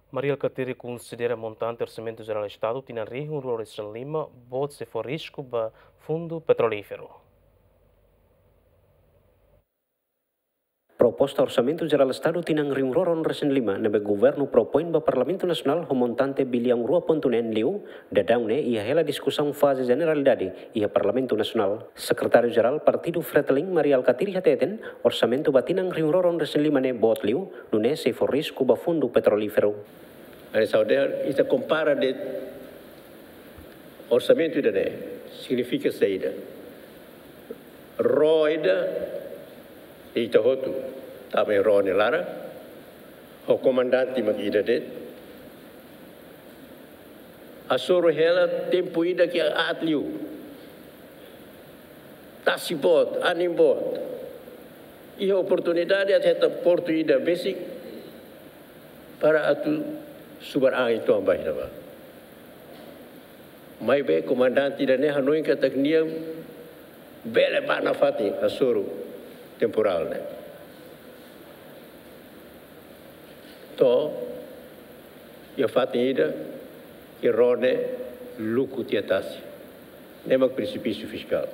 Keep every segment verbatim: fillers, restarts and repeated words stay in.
Mari Alkatiri konsidera montante Orsamentu Jerál Estadu tinan rihun rua resin lima boot sei fó risku ba Fundu Petrolíferu. Proposta Orsamentu Jerál Estadu tinan rihun rua ruanulu resin lima ne'ebé governu propoin ba Parlamentu Nasionál ho montante biliaun rua pontu neen liu, daudaun ne'e iha hela diskusaun faze jeneralidade iha Parlamentu Nasionál. Sekretáriu Jerál Partidu Fretilin, Mari Alkatiri hateten, orsamentu ba tinan rihun rua ruanulu resin lima ne'e boot liu, nune'e sei fó risku ba Fundu Petrolíferu. Hanesan ohin ita kompara de'it orsamentu ida-ne'e, signifika saida? Ró ida ita hotu tama iha ró nia laran, ho komandante mak ida de'it. Hasoru hela tempu ida ke aat liu. Tasi boot, anin boot. Iha oportunidade atu hetan portu ida besik para atu subar an ituan ba iha ne'ebá. Maibé komandante ida-ne'e hanoin katak nia bele bá nafatin hasoru temporál ne'e. To'o iha fatin ida, iha ró ne'e luku tiha tasi. Ne'e mak presipísiu fiskál.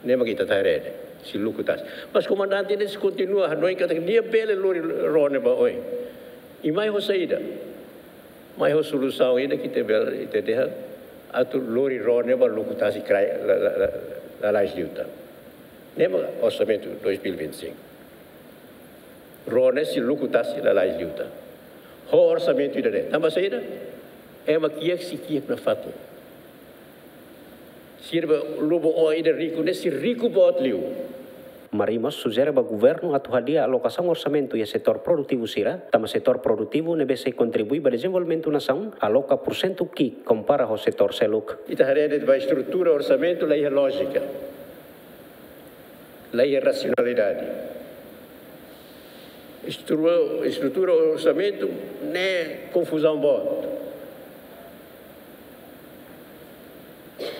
Ne'e mak ita atu haree, sei luku tasi. Mas komandante ne'e sei kontinua hanoin katak nia bele lori ró ne'e ba oin. I mai ho saida? Mai ho solusaun ida ke ita bele, ita dehan atu lori ró ne'e ba luku tasi kraik, la, la, la, lalais liután. Ne'e mak orsamentu dois mil e vinte e cinco. Ró ne'e sei luku tasi lalais liután. Ho orsamentu ida-ne'e. Tanba saida? Ema kiak sei kiak nafatin. Sira be lubun oan ida riku ne'e sei riku boot liu. Mari mós sujere ba governu atu hadi'a alokasaun orsamentu iha setór produtivu sira, tanba setór produtivu ne'ebé sei kontribui ba dezenvolvimentu nasaun, aloka porsentu ki'ik kompara ho setór seluk. Ita haree de'it ba estrutura orsamentu la iha lójika. La iha rasionalidade. Estrutura, estrutura orsamentu ne'e konfuzaun boot.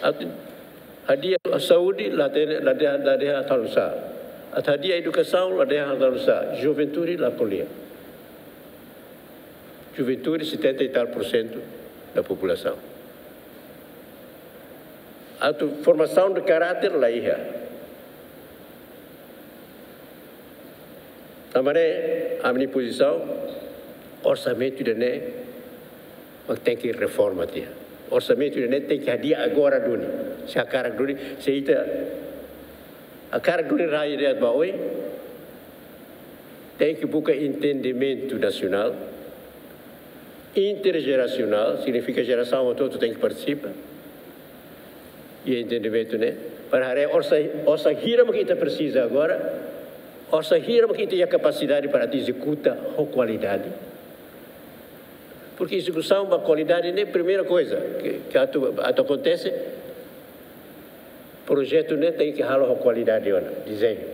Atu hadi'a saúde, la dehan, la dehan, la dehan atu halo sá. Atu hadi'a edukasaun, la dehan atu halo sá. Juventude la ko'alia. Juventude, setenta e tal por cento da populasaun. Atu formasaun de karáter la iha. Tanba ne'e, ami-nia pozisaun, orsamentu ida-ne'e mak tenke reforma tiha. Orsamentu ida-ne'e tenke hadi'a agora duni. Se hakarak duni, se ita hakarak duni rai de'it ba oin, tenke buka entendimentu nasionál, interjerasionál, signifika jerasaun hotu-hotu tenke partisipa. I entendimentu ne'e, para haree orsá, orsá hira mak ita presiza agora, orsá hira mak ita iha kapasidade para atu ezekuta ho kualidade. Porque ezekusaun ba kualidade ne'e primeira koiza ke, ke atu, atu akontese, projetu ne'e tenke halo ho kualidade ona, dezeñu.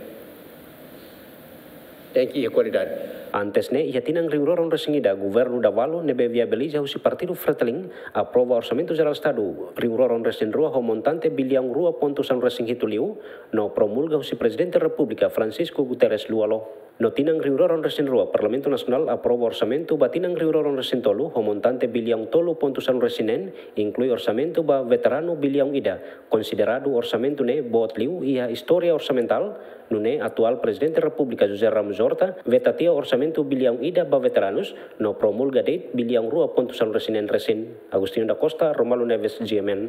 Tenke iha kualidade. Antes ne'e, iha tinan rihun rua ruanulu resin ida, governu Davalu ne'ebé viabiliza husi Partidu Fretilin aprova Orsamentu Jerál Estadu rihun rua ruanulu resin rua ho montante biliaun rua pontu sanulu resin hitu liu, no promulga husi Prezidente Repúblika Francisco Guterres Lú Olo. No tinan rihun rua ruanulu resin rua, Parlamentu Nasionál aprova orsamentu ba tinan rihun rua ruanulu resin tolu ho montante biliaun tolu pontu sanulu resin neen, inklui orsamentu ba veteranu biliaun ida. Konsideradu orsamentu ne'e boot liu iha istória orsamentál, nune'e atuál Prezidente Repúblika José Ramos Horta veta tiha orsamentu biliaun ida ba veteranus, no promulga de'it biliaun rua pontu sanulu resin neen resin. Agostinho da Costa, Romualdo Neves, G M N.